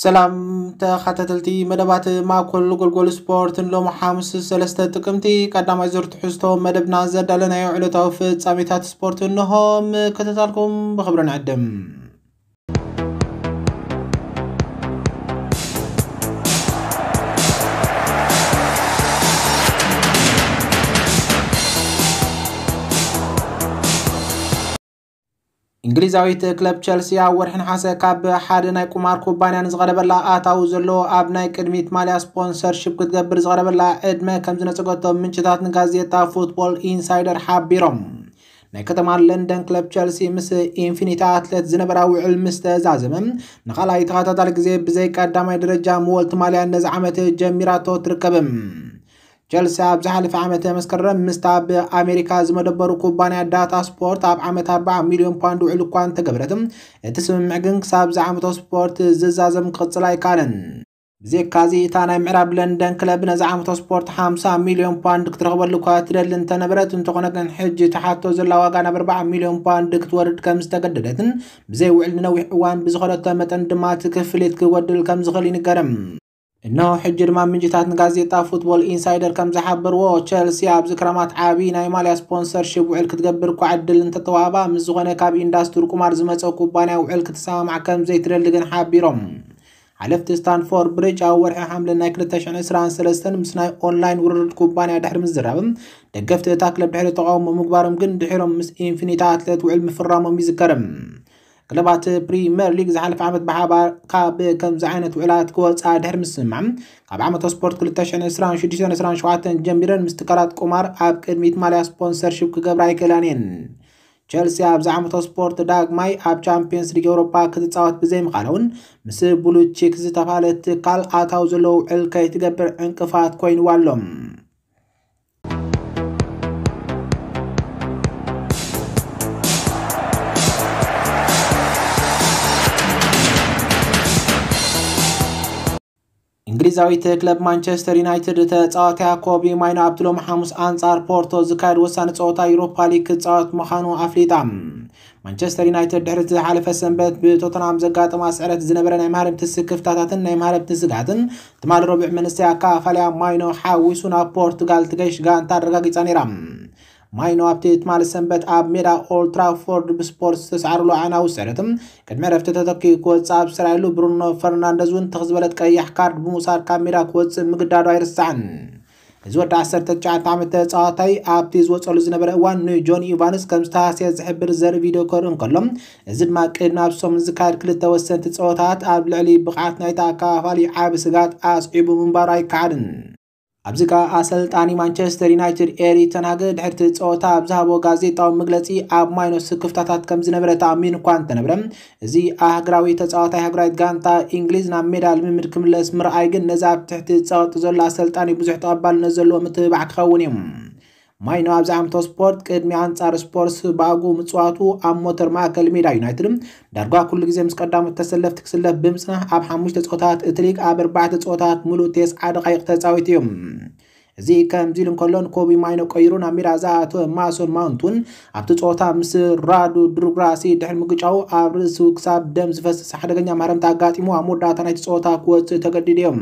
ሰላም ተኸታተልቲ መደባት ማእኮል ጎልጎል ስፖርት፣ ንሎሚ ሓሙስ ሰለስተ ጥቅምቲ ቀዳማይ ዙር ትሕዝቶ መደብና ዘዳለናዮ ዕለታዊ ፍጻሜታት ስፖርት እንሆ። ምክትታልኩም ብኽብሪ ንዕድም። እንግሊዛዊት ክለብ ቸልሲ ኣብ ወርሒ ነሓሰ ካብ ሓደ ናይ ቁማር ኩባንያ ንዝቐረበላ ኣታዊ ዘለዎ ኣብ ናይ ቅድሚት ማልያ ስፖንሰርሺፕ ክትገብር ዝቐረበላ ዕድመ ከም ዝነጸገቶ ምንጭታት ንጋዜጣ ፉትቦል ኢንሳይደር ሓቢሮም። ናይ ከተማ ለንደን ክለብ ቸልሲ ምስ ኢንፊኒቲ ኣትሌት ዝነበራ ውዕል ምስ ተዛዘመ፣ ንኻልኣይ ተኸታታሊ ግዜ ብዘይ ቀዳማይ ደረጃ መወልቲ ማልያ ነዚ ዓመት ጀሚራቶ ትርከብም። ቸልሲ ኣብ ዝሓለፈ ዓመት መስከረም ምስታ ኣብ ኣሜሪካ ዝመደበሩ ኩባንያ ዳታ ስፖርት ኣብ ዓመት ኣርባዓ ሚልዮን ፓውንድ ውዕል እኳ እንተገበረት፣ እቲ ስምምዕ ግን ክሳብ ዝዓመቶ ስፖርት ዝዛዘም ክቕጽል ኣይከኣለን። ብዘይካዚ እታ ናይ ምዕራብ ለንደን ክለብ ነዚ ዓመቶ ስፖርት ሓምሳ ሚልዮን ፓውንድ ክትረኽበሉ እኳ ትደሊ እንተነበረት፣ እንተኾነ ግን ሕጂ ትሓቶ ዘላ ዋጋ ናብ ኣርባዓ ሚልዮን ፓውንድ ክትወርድ ከም ዝተገደደትን ብዘይ ውዕል ንነዊሕ እዋን ብዝኸደቶ መጠን ድማ እቲ ክፍሊት ክጎድል ከም ዝኽእል ይንገርም። እነሆ ሕጂ ድማ ምንጭታት ንጋዜጣ ፉትቦል ኢንሳይደር ከም ዝሓበርዎ፣ ቸልሲ ኣብዚ ክረማት ዓቢ ናይ ማልያ ስፖንሰርሺፕ ውዕል ክትገብር እኳ ዕድል እንተተዋህባ፣ ምስ ዝኾነ ካብ ኢንዳስትሪ ቁማር ዝመጸ ኩባንያ ውዕል ክትሰማማዕ ከም ዘይትደሊ ግን ሓቢሮም። ሓለፍቲ ስታንፎርድ ብሪጅ ኣብ ወርሒ ሓምለ ናይ ክልተ ሽሕን ዕስራን ሰለስተን ምስ ናይ ኦንላይን ውርርድ ኩባንያ ድሕሪ ምዝራብም፣ ደገፍቲ እታ ክለብ ድሕሪ ተቃውሞ ምግባሮም ግን ድሒሮም ምስ ኢንፊኒቲ ኣትሌት ውዕል ምፍራሞም ይዝከርም። ክለባት ፕሪምየር ሊግ ዝሓለፈ ዓመት ብሓባር ካብ ከምዚ ዓይነት ውዕላት ክወፃ ድሕሪ ምስምማዕ፣ ካብ ዓመተ ስፖርት ክልተ ሽሕን ዕስራን ሽዱሽተን ዕስራን ሸውዓተን ጀሚረን ምስ ትካላት ቁማር ኣብ ቅድሚት ማልያ ስፖንሰርሺፕ ክገብራ ኣይክእላን እየን። ቸልሲ ኣብዚ ዓመተ ስፖርት ዳግማይ ኣብ ቻምፒየንስ ሊግ ኤውሮፓ ክትፃወት ብዘይምኻላ እውን፣ ምስ ብሉ ቺክ ዝተባህለ ትካል ኣታዊ ዘለዎ ውዕል ከይትገብር ዕንቅፋት ኮይንዋ ኣሎ። እንግሊዛዊት ክለብ ማንቸስተር ዩናይትድ ተጻዋትያ ኮቢ ማይኖ ኣብቲ ሎሚ ሓሙስ ኣንጻር ፖርቶ ዝካየድ ወሳኒ ጸወታ ዩሮፓ ሊግ ክጻወት ምዃኑ ኣፍሊጣ። ማንቸስተር ዩናይትድ ድሕሪ ዝሓለፈ ሰንበት ብቶተንሃም ዘጋጠማ ስዕረት ዝነበረ ናይ መሃረምቲ ስክፍታታትን ናይ መሃረምቲ ስግኣትን ትማሊ ረቡዕ መንስተይ ኣካፋልያ ማይኖ ሓዊሱ ናብ ፖርቱጋል ትገይሽ ጋንታ ኣረጋጊጻ ነይራ። ማይኖ ኣብቲ ትማሊ ሰንበት ኣብ ሜዳ ኦልድ ትራፎርድ ብስፖርት ዝተሰዓረሉ ኣዕናዊ ስዕረት ቅድሚ ዕረፍቲ ተተኪኡ ክወጽእ ኣብ ዝተራእየሉ፣ ብሩኖ ፈርናንደዝ እውን ትኽ ዝበለት ቀያሕ ካርድ ብምውሳድ ካብ ሜዳ ክወጽእ ምግዳዱ ኣይርሳዕን። እዚ ወዲ ዓሰርተ ትሽዓተ ዓመት ተጻዋታይ ኣብቲ ዝወጸሉ ዝነበረ እዋን ንጆኒ ኢቫንስ ከም ዝተሃስየ ዝሕብር ዘርኢ ቪድዮ ከርኢ እንከሎ፣ እዚ ድማ ቅድሚ ኣብ ሰሙን ዝካየድ ክልተ ወሰንቲ ጸወታት ኣብ ልዕሊ ብቕዓት ናይቲ ኣካፋሊ ዓቢ ስጋት ኣስዒቡ ምንባሩ ኣይከሓድን። ኣብዚ ከኣ ኣሰልጣኒ ማንቸስተር ዩናይትድ ኤሪ ተን ሃግ ድሕርቲ ጸወታ ኣብ ዝሃቦ ጋዜጣዊ መግለጺ፣ ኣብ ማይኖ ስክፍታታት ከም ዝነበረ ተኣሚኑ እኳ እንተነበረ፣ እዚ ኣህግራዊ ተጻዋታይ ሃገራዊት ጋንታ እንግሊዝ ናብ ሜዳ ልምምድ ክምለስ ምርኣይ ግን ነዚ ኣብ ትሕቲ ጸቕጢ ዘሎ ኣሰልጣኒ ብዙሕ ተቐባልነት ዘለዎ ምትብባዕ ክኸውን እዩ። ማይኖ ኣብዚ ዓመተ ስፖርት ቅድሚ ኣንጻር ስፖርስ ብኣግኡ ምጽዋቱ ኣብ ሞተር ማእከል ሜዳ ዩናይትድ ዳርጋ ኩሉ ግዜ ምስ ቀዳሞት ተሰለፍቲ ክስለፍ ብምጽናሕ ኣብ ሓሙሽተ ጸወታት እቲ ሊግ ኣብ ኣርባዕተ ጸወታት ምሉእ ተስዓ ደቓይቕ ተጻዊቱ እዩ። እዚ ከምዚ ኢሉ እንከሎ ንኮቢ ማይኖ ቀይሩ ናብ ሜዳ ዝኣተወ ማሶን ማውንት እውን ኣብቲ ጸወታ ምስ ራዱ ድሩግራሲ ድሕሪ ምግጫው ኣብ ርእሱ ክሳብ ደም ዝፈስስ ሓደገኛ ማህረምታ ኣጋጢሙ ኣብ መወዳእታ ናይቲ ጸወታ ክወጽእ ተገዲዱ እዩ።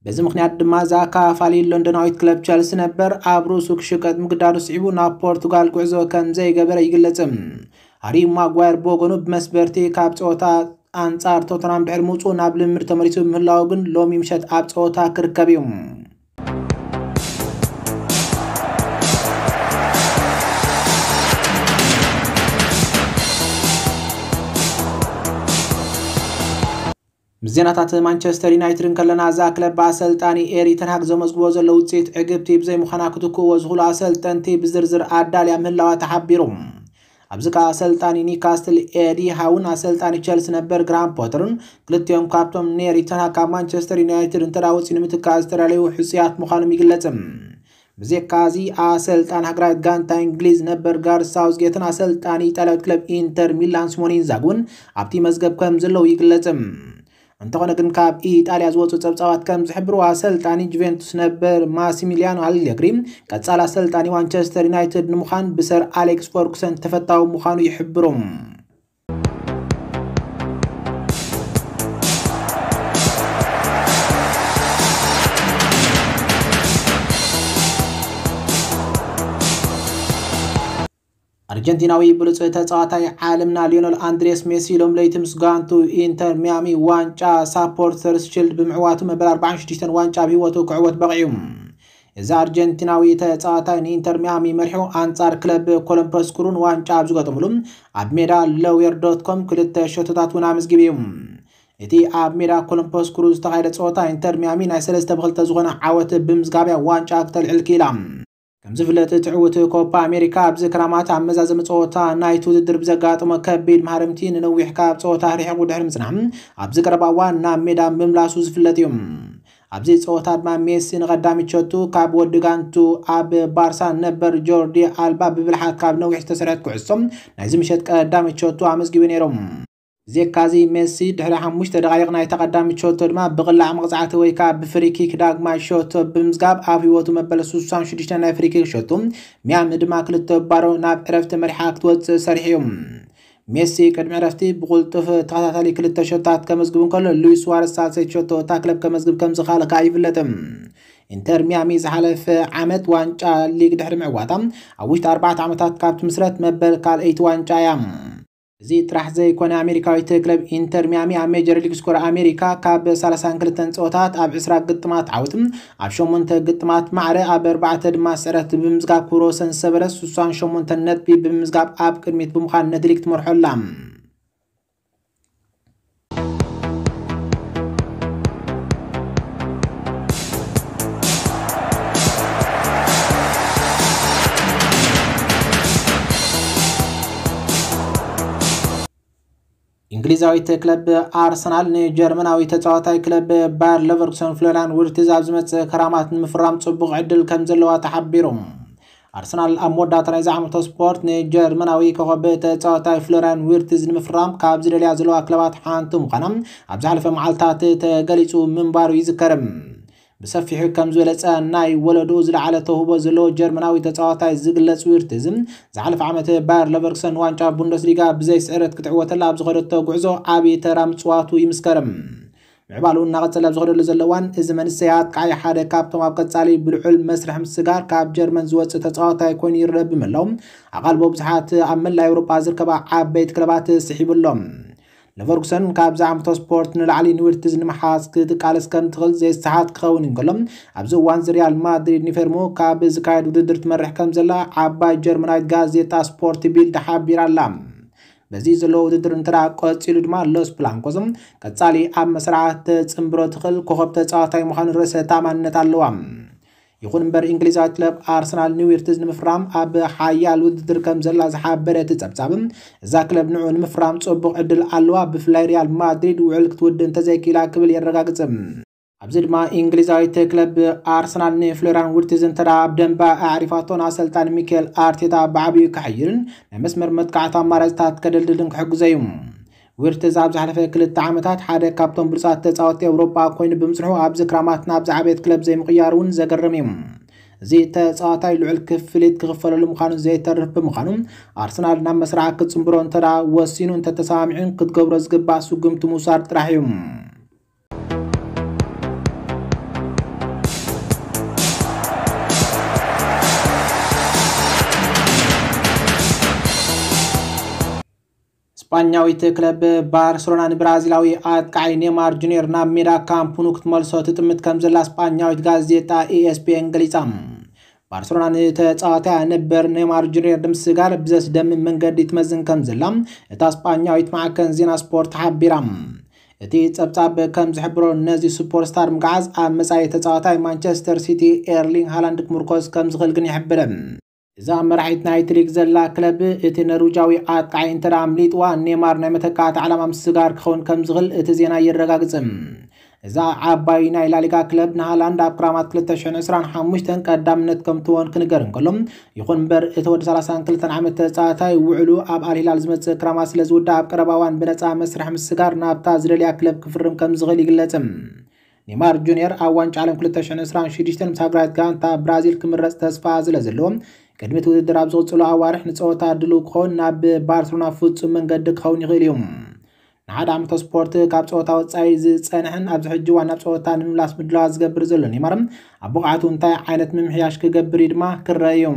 በዚ ምኽንያት ድማ እዛ ኣካፋሊ ሎንዶናዊት ክለብ ቸልሲ ነበር ኣብ ርእሱ ክሽቀጥ ምግዳዱ ስዒቡ ናብ ፖርቱጋል ጉዕዞ ከም ዘይገበረ ይግለጽ። ሃሪ ማጓየር ብወገኑ ብመስበርቲ ካብ ጸወታ ኣንጻር ቶተናም ድሕሪ ምውጽኡ ናብ ልምምድ ተመሊሱ ምህላው ግን ሎሚ ምሸት ኣብ ጸወታ ክርከብ እዩ። ምስ ዜናታት ማንቸስተር ዩናይትድ እንከለና፣ እዛ ክለብ ብኣሰልጣኒ ኤሪ ተን ሃግ ዘመዝግቦ ዘሎ ውጽኢት ዕግብቲ ብዘይምዃና ክትክእዎ ዝኽእሉ ኣሰልጠንቲ ብዝርዝር ኣዳልያ ምህላዋ ተሓቢሩ። ኣብዚ ከኣ ኣሰልጣኒ ኒውካስትል ኤዲ ሃውን ኣሰልጣኒ ቸልሲ ነበር ግራሃም ፖተርን ክልቲኦም ካብቶም ንኤሪ ተን ሃግ ካብ ማንቸስተር ዩናይትድ እንተ ደኣ ወጺኡ ንምትካእ ዝተዳለዩ ሕጹያት ምዃኖም ይግለጽ። ብዘይካ እዚ ኣሰልጣኒ ሃገራዊት ጋንታ እንግሊዝ ነበር ጋርዝ ሳውዝጌትን ኣሰልጣኒ ኢጣልያዊት ክለብ ኢንተር ሚላን ሲሞኔ ኢንዛጊ እውን ኣብቲ መዝገብ ከም ዘለዉ ይግለጽ። እንተኾነ ግን ካብ ኢጣልያ ዝወጹ ጸብጻባት ከም ዝሕብርዎ ኣሰልጣኒ ጁቬንቱስ ነበር ማሲሚሊያኖ ኣሌግሪ ቀጻሊ ኣሰልጣኒ ማንቸስተር ዩናይትድ ንምዃን ብሰር ኣሌክስ ፈርጉሰን ተፈታዊ ምዃኑ ይሕብሩ። ኣርጀንቲናዊ ብሉጽ ተጻዋታይ ዓለምና ሊዮነል ኣንድሬስ ሜሲ ሎም ለይቲ ምስ ጋንቱ ኢንተር ሚያሚ ዋንጫ ሳፖርተርስ ሺልድ ብምዕዋቱ መበል ኣርባዓን ሽዱሽተን ዋንጫ ኣብ ህይወቱ ክዕወት በቒዑ። እዚ ኣርጀንቲናዊ ተጻዋታይ ንኢንተር ሚያሚ መሪሑ ኣንጻር ክለብ ኮሎምፐስ ክሩን ዋንጫ ኣብ ዝገጠምሉ ኣብ ሜዳ ሎዌር ዶት ኮም ክልተ ሸቶታት እውን ኣመዝጊቡ እዩ። እቲ ኣብ ሜዳ ኮሎምፐስ ክሩ ዝተኻየደ ጸወታ ኢንተር ሚያሚ ናይ ሰለስተ ብክልተ ዝኾነ ዓወት ብምዝጋብያ ዋንጫ ክተልዕል ክኢላ። ከም ዝፍለጥ እቲ ዕውት ኮፓ ኣሜሪካ ኣብዚ ክራማት ኣብ መዛዘሚ ጸወታ ናይቲ ውድድር ብዘጋጠሞ ከቢድ ማህረምቲ ንነዊሕ ካብ ጸወታ ርሒቑ ድሕሪ ምጽናሕ ኣብዚ ቀረባ እዋን ናብ ሜዳ ምምላሱ ዝፍለጥ እዩ። ኣብዚ ጸወታ ድማ ሜሲ ንቐዳሚት ሸቱ ካብ ወዲ ጋንቱ ኣብ ባርሳ ነበር ጆርዲ ኣልባ ብብልሓት ካብ ነዊሕ ዝተሰርሐት ኩዕሶ ናይዚ ምሸት ቀዳሚት ሸቱ ኣመዝጊቡ ነይሩ። ዜካዚ ሜሲ ድሕሪ ሓሙሽተ ደቓይቕ ናይታ ቀዳሚት ሸቶ ድማ ብቕላዕ መቕጻዕቲ ወይ ከዓ ብፍሪኪክ ዳግማይ ሸቶ ብምዝጋብ ኣብ ህይወቱ መበል ስሳን ሽዱሽተ ናይ ፍሪኪክ ሸቶ ሚያሚ ድማ ክልተ ባሮ ናብ ዕረፍቲ መሪሓ ክትወፅእ ሰሪሑ እዩ። ሜሲ ቅድሚ ዕረፍቲ ብቕልጡፍ ተኸታታሊ ክልተ ሸቶታት ከመዝግብ እንከሎ ሉዊስ ሱዋረስ ሳልሰይቲ ሸቶ እታ ክለብ ከመዝግብ ከም ዝኻለ ከዓ ይፍለጥ። ኢንተር ሚያሚ ዝሓለፈ ዓመት ዋንጫ ሊግ ድሕሪ ምዕዋታ ኣብ ውሽጢ ኣርባዕተ ዓመታት ካብ ትምስረት መበል ካልኣይቲ ዋንጫ እያ። እዚ ጥራሕ ዘይኮነ ኣሜሪካዊት ክለብ ኢንተር ሚያሚ ኣብ ሜጀር ሊግ ስኮር ኣሜሪካ ካብ ሰላሳን ክልተን ፀወታት ኣብ ዕስራ ግጥማት ዓወት ኣብ ሸሞንተ ግጥማት ማዕረ ኣብ ኣርባዕተ ድማ ስዕረት ብምዝጋብ ክብረ ወሰን ዝሰበረ ስሳን ሸሞንተ ነጥቢ ብምምዝጋብ ኣብ ቅድሚት ብምዃን ነቲ ሊግ ትመርሖ ኣላ። እንግሊዛዊት ክለብ ኣርሰናል ንጀርመናዊ ተጻዋታይ ክለብ ባየር ለቨርኩሰን ፍሎሪያን ዊርትዝ ኣብ ዝመጽእ ክራማት ንምፍራም ጽቡቕ ዕድል ከም ዘለዋ ተሓቢሩ። ኣርሰናል ኣብ መወዳእታ ናይዚ ዓመት ስፖርት ንጀርመናዊ ኮኸብ ተጻዋታይ ፍሎሪያን ዊርትዝ ንምፍራም ካብ ዝደልያ ዘለዋ ክለባት ሓንቲ ምዃና ኣብ ዝሓለፈ መዓልታት ተገሊጹ ምንባሩ ይዝከር። ብሰፊሑ ከም ዝበለጸ ናይ ወለድኡ ዝለዓለ ተውህቦ ዘለዎ ጀርመናዊ ተጻዋታይ ዝግለጽ ዊርትዝ ዝሓለፈ ዓመት ባየር ለቨርኩሰን ዋንጫ ቡንደስሊጋ ብዘይ ስዕረት ክትዕወተላ ኣብ ዝኸደቶ ጉዕዞ ዓብዪ ተራ ምጽዋቱ ይምስከር። ምዕባሉ እናቐጸለ ኣብ ዝኸደሉ ዘሎ እዋን እዚ መንእሰይ ኣጥቃዓይ ሓደ ካብቶም ኣብ ቀጻሊ ብልዑል መስርሕ ምስጋር ካብ ጀርመን ዝወጽእ ተጻዋታይ ኮይኑ ይረአ ብምህላው ኣቓልቦ ብዙሓት ኣብ መላእ ኤውሮጳ ዝርከባ ዓበይቲ ክለባት ስሒቡ ኣሎ። ለቨርኩሰን ካብዚ ዓመት ስፖርት ንላዕሊ ንዊርትዝ ንምሓዝ ክትቃለስ ከም ትኽእል ዘይሰሓት ክኸውን እንከሎ ኣብዚ እዋን እዚ ሪያል ማድሪድ ንፌርሞ ካብ ዝካየድ ውድድር ትመርሕ ከም ዘላ ዓባይ ጀርመናዊት ጋዜጣ ስፖርት ቢልድ ሓቢራ ኣላ። በዚ ዘሎ ውድድር እንተ ደኣ ቀጺሉ ድማ ሎስ ብላንኮስ ቀጻሊ ኣብ መስርዓ ተጽንብሮ ትኽእል ኮኸብ ተጻዋታይ ምዃኑ ርእሰ ተኣማንነት ኣለዋ። ይኹን እምበር እንግሊዛዊት ክለብ ኣርሰናል ንዊርትዝ ንምፍራም ኣብ ሓያል ውድድር ከም ዘላ ዝሓበረ እቲ ጸብጻብ እዛ ክለብ ንዑ ንምፍራም ጽቡቕ ዕድል ኣለዋ፣ ብፍላይ ሪያል ማድሪድ ውዕል ክትውድእ እንተዘይክኢላ ክብል የረጋግጽ። ኣብዚ ድማ እንግሊዛዊት ክለብ ኣርሰናል ንፍሎሪያን ዊርትዝ እንተ ደኣ ኣብ ደንባ ኣዕሪፋቶን ኣሰልጣኒ ሚካኤል ኣርቴታ ብዓብዩ ክሕይልን ናይ መስመር መጥቃዕቲ ኣማራፅታት ከደልድልን ክሕግዞ እዩ። ዊርትዝ ኣብ ዝሓለፈ ክልተ ዓመታት ሓደ ካብቶም ብሉጻት ተጻወትቲ ኤውሮጳ ኮይኑ ብምስርሑ ኣብዚ ክራማት ናብ ዝዓበየት ክለብ ዘይምቕያሩ እውን ዘገርም እዩ። እዚ ተጻዋታይ ልዑል ክፍሊት ክኽፈለሉ ምዃኑ ዘይተርፍ ብምዃኑ ኣርሰናል ናብ መስርዓ ክጽንብሮ እንተ ደኣ ወሲኑ እንተተሰማሚዑን ክትገብሮ ዝግባእ ስጉምቲ ምውሳድ ጥራሕ እዩ። ስጳኛዊት ክለብ ባርሰሎና ንብራዚላዊ ኣጥቃዓይ ኔማር ጁኒየር ናብ ሜዳ ካምፕ ኑ ክትመልሶ ትጥምት ከም ዘላ ስጳኛዊት ጋዜጣ ኢኤስፒኤን ገሊጻ። ባርሰሎና ንተጻዋታይ ነበር ኔማር ጁኒየር ንምስጋር ብዘስደምም መንገዲ ትመዝን ከም ዘላ እታ ስጳኛዊት ማዕከን ዜና ስፖርት ሓቢራ። እቲ ጸብጻብ ከም ዝሕብሮ ነዚ ሱፐርስታር ምግዓዝ ኣብ መጻኢ ተጻዋታይ ማንቸስተር ሲቲ ኤርሊንግ ሃላንድ ክምርኮስ ከም ዝኽእል ግን ይሕብር። እዛ መራሒት ናይቲ ሊግ ዘላ ክለብ እቲ ነርዊጃዊ ኣጥቃዓይ እንተ ደኣ ኣምሊጥዋ ኔማር ናይ መተካእታ ዕላማ ምስጋር ክኸውን ከም ዝኽእል እቲ ዜና የረጋግጽ። እዛ ዓባይ ናይ ላሊጋ ክለብ ንሃላንድ ኣብ ክራማት ክልተ ሽሕን ዕስራን ሓሙሽተን ቀዳምነት ከም ትወን ክንገር እንከሎ ይኹን እምበር እቲ ወዲ ሰላሳን ክልተን ዓመት ተጻዋታይ ውዕሉ ኣብ ኣልሂላል ዝመጽእ ክራማት ስለ ዝውዳእ ኣብ ቀረባ እዋን ብነጻ መስርሕ ምስጋር ናብታ ዝደልያ ክለብ ክፍርም ከም ዝኽእል ይግለጽ። ኔማር ጁኒየር ኣብ ዋንጫ ዓለም ክልተ ሽሕን ዕስራን ሽዱሽተን ምስ ሃገራዊት ጋንታ ብራዚል ክምረጽ ተስፋ ስለ ዘለዎ ቅድሚ እቲ ውድድር ኣብ ዝቕጽሉ ኣዋርሕ ንጸወታ ድሉው ክኸውን ናብ ባርሰሎና ፍጹም መንገዲ ክኸውን ይኽእል እዩ። ንሓደ ዓመት ስፖርት ካብ ጸወታ ወጻኢ ዝጸንሐን ኣብዚ ሕጂ እዋን ናብ ጸወታ ንምምላስ ምድላዋት ዝገብር ዘሎ ኔማር ኣብ ብቕዓቱ እንታይ ዓይነት ምምሕያሽ ክገብር እዩ ድማ ክረአ እዩ።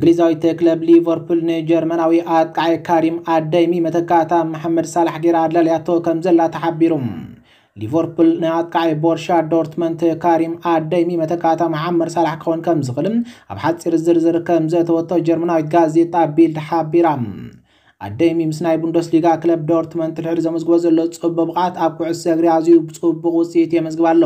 እንግሊዛዊት ክለብ ሊቨርፑል ንጀርመናዊ ኣጥቃዒ ካሪም ኣደይሚ መተካእታ መሓመድ ሳላሕ ገይራ ኣዳልያቶ ከም ዘላ ተሓቢሩ። ሊቨርፑል ንኣጥቃዒ ቦርሻ ዶርትመንት ካሪም ኣደይሚ መተካእታ መሓመድ ሳላሕ ክኸውን ከም ዝኽእል ኣብ ሓፂር ዝርዝር ከም ዘተወቶ ጀርመናዊት ጋዜጣ ቢልድ ሓቢራ። ኣደይሚ ምስ ናይ ቡንደስሊጋ ክለብ ዶርትመንት ድሕሪ ዘመዝግቦ ዘሎ ጽቡቕ ብቕዓት ኣብ ኩዕሶ እግሪ ኣዝዩ ጽቡቕ ውጽኢት የመዝግብ ኣሎ።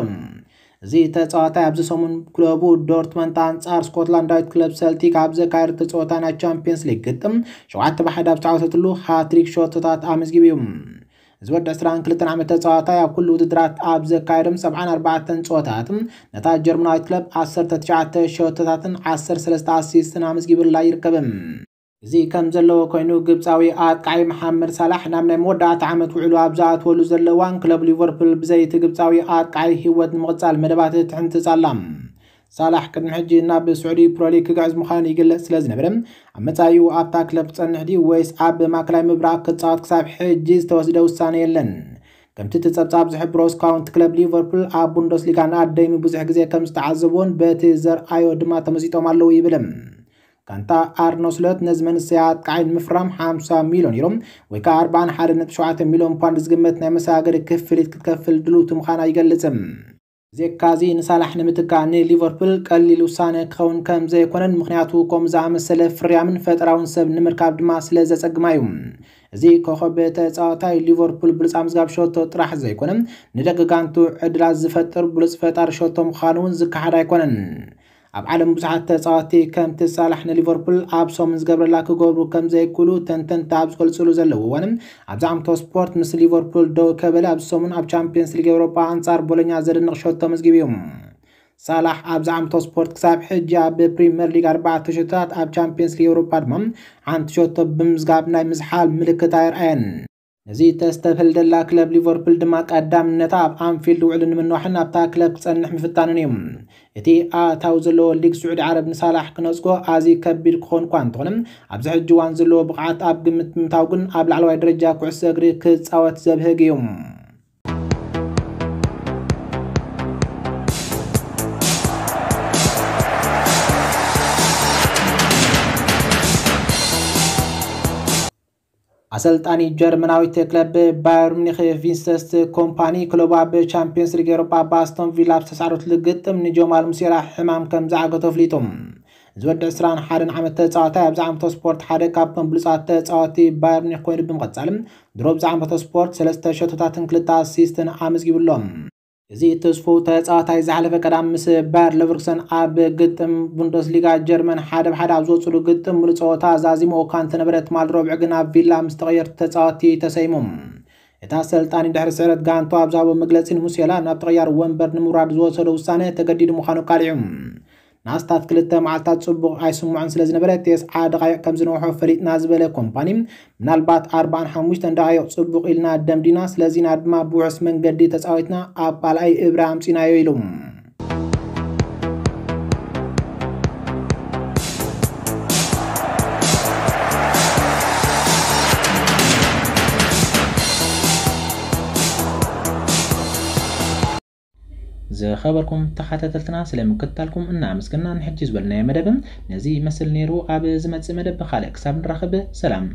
እዚ ተጻዋታይ ኣብዚ ሰሙን ክለቡ ዶርትመንት ኣንጻር ስኮትላንዳዊት ክለብ ሰልቲክ ኣብ ዘካየደቶ ጸወታ ናይ ቻምፒየንስ ሊግ ግጥም ሸውዓተ ብሓደ ኣብ ዝተዓወተትሉ ሃትሪክ ሸቶታት ኣመዝጊቡ እዩ። እዚ ወዲ ዕስራን ክልተን ዓመት ተጻዋታይ ኣብ ኩሉ ውድድራት ኣብ ዘካየዶም ሰብዓን ኣርባዕተን ጸወታታት ነታ ጀርመናዊት ክለብ ዓሰርተ ትሽዓተ ሸቶታትን ዓሰርተ ሰለስተ ኣሲስትን ኣመዝጊቡላ ይርከብ። እዚ ከም ዘለዎ ኮይኑ ግብጻዊ ኣጥቃዒ መሓመድ ሳላሕ ናብ ናይ መወዳእታ ዓመት ውዕሉ ኣብ ዝኣትወሉ ዘሎ እዋን ክለብ ሊቨርፑል ብዘይቲ ግብጻዊ ኣጥቃዒ ህይወት ንምቕጻል መደባት ትሕንጽጽ ኣላ። ሳላሕ ቅድሚ ሕጂ ናብ ስዑዲ ፕሮሊግ ክግዕዝ ምዃኑ ይግለጽ ስለ ዝነበረ ኣብ መጻኢኡ ኣብታ ክለብ ክጸንሕ ድዩ ወይስ ኣብ ማእከላይ ምብራቕ ክጻወት ክሳብ ሕጂ ዝተወስደ ውሳነ የለን። ከምቲ እቲ ጸብጻብ ዝሕብሮ ስካውንት ክለብ ሊቨርፑል ኣብ ቡንደስሊጋ ንኣደይሚ ብዙሕ ግዜ ከም ዝተዓዘብዎን በቲ ዘርኣዮ ድማ ተመሲጦም ኣለዉ ይብል። ጋንታ ኣርነ ስሎት ነዚ መንእሰይ ኣጥቃዓይ ንምፍራም ሓምሳ ሚልዮን ዩሮ ወይ ከዓ ኣርባዓን ሓደ ነጥቢ ሸውዓተ ሚልዮን ፓውንድ ዝግመት ናይ መሰጋገሪ ክፍሊት ክትከፍል ድልውቲ ምዃና ይገልጽ። ብዘካዚ ንሳላሕ ንምትካእ ንሊቨርፑል ቀሊል ውሳነ ክኸውን ከም ዘይኮነን ምክንያቱ ከምኡ ዝኣመሰለ ፍርያምን ፈጠራውን ሰብ ንምርካብ ድማ ስለ ዘጸግማ እዩ። እዚ ኮኸብ ተጻዋታይ ሊቨርፑል ብሉጻ ምዝጋብ ሸቶ ጥራሕ ዘይኮነ ንደቂ ጋንቱ ዕድላት ዝፈጥር ብሉጽ ፈጣሪ ሸቶ ምዃኑ እውን ዝከሓድ ኣይኮነን። ኣብ ዓለም ብዙሓት ተጻወትቲ ከምቲ ሳላሕ ንሊቨርፑል ኣብ ሰሙን ዝገብረላ ክገብሩ ከም ዘይክእሉ ተንተንቲ ኣብ ዝገልጽሉ ዘለዉ እዋን ኣብዚ ዓመቶ ስፖርት ምስ ሊቨርፑል ደው ከበለ ኣብዚ ሰሙን ኣብ ቻምፒየንስ ሊግ ኤውሮጳ ኣንጻር ቦሎኛ ዘደንቕ ሸቶ መዝጊቡ እዩ። ሳላሕ ኣብዚ ዓመቶ ስፖርት ክሳብ ሕጂ ኣብ ፕሪምየር ሊግ ኣርባዕተ ሸቶታት ኣብ ቻምፒየንስ ሊግ ኤውሮጳ ድማ ሓንቲ ሸቶ ብምዝጋብ ናይ ምዝሓል ምልክት ኣየርኣየን። ነዚ ተስተብህል ደላ ክለብ ሊቨርፑል ድማ ቀዳምነታ ኣብ ኣንፊልድ ውዕሉ ንምንዋሕን ኣብታ ክለብ ክጸንሕ ምፍታንን እዩ። እቲ ኣታዊ ዘለዎ ሊግ ስዑዲ ዓረብ ንሳላሕ ክነጽጎ ኣዝዩ ከቢድ ክኾን እኳ እንተኾነ ኣብዚ ሕጂ እዋን ዘለዎ ብቕዓት ኣብ ግምት ምእታው ግን ኣብ ላዕለዋይ ደረጃ ኩዕሶ እግሪ ክጻወት ዘብህግ እዩ። ኣሰልጣኒ ጀርመናዊት ክለብ ባየር ሚኒክ ቪንሰንት ኮምፓኒ ክለቡ ኣብ ቻምፒየንስ ሊግ ኤውሮጳ ብኣስቶን ቪላ ኣብ ዝተሳዕረትሉ ግጥም ንጀማል ሙሲያላ ሕማም ከም ዝዓገቶ ኣፍሊጡ። እዚ ወዲ ዕስራን ሓደን ዓመት ተጻዋታይ ኣብዚ ዓመቶ ስፖርት ሓደ ካብቶም ብሉጻት ተጻወቲ ባየር ሚኒክ ኮይኑ ብምቕጻል ድሮ ኣብዚ ዓመቶ ስፖርት ሰለስተ ሸቶታትን ክልተ ኣሲስትን ኣመዝጊቡ ኣሎ። እዚ ተስፉ ተጻዋታይ ዝሓለፈ ቀዳም ምስ ባየር ለቨርኩሰን ኣብ ግጥም ቡንደስሊጋ ጀርመን ሓደ ብሓደ ኣብ ዝወፅሉ ግጥም ሙሉእ ፀወታ ዛዚሞ እኳ እንተነበረ ትማል ረቡዕ ግን ኣብ ቪላ ምስ ተቐየርቲ ተጻወቲ ተሰይሙ። እቲ ኣሰልጣኒ ድሕሪ ስዕረት ጋንቱ ኣብ ዝሃቦ መግለጺ ንሙሴላ ናብ ተቐያሪ ወንበር ንምውራድ ዝወሰዶ ውሳነ ተገዲዱ ምዃኑ ኣቃሊዑ። ንኣስታት ክልተ መዓልታት ጽቡቕ ኣይስምዖን ስለ ዝነበረ ቴስዓ ደቓይቕ ከም ዝነውሖ ፈሊጥና ዝበለ ኮምፓኒ ምናልባት ኣርባዓን ሓሙሽተን ደቓይቕ ጽቡቕ ኢልና ደምዲና ስለዚና ድማ ብውሑስ መንገዲ ተጻዊትና ኣብ ካልኣይ እብረ ኣምጺናዮ ኢሉ። ዝኸበርኩም ተኸታተልትና ስለ ምክትታልኩም እናኣመስገና ንሕጂ ዝበልናዮ መደብ ነዚ ይመስል ነይሩ። ኣብ ዝመጽእ መደብ ብኻልእ ክሳብ ንራኸብ ሰላም።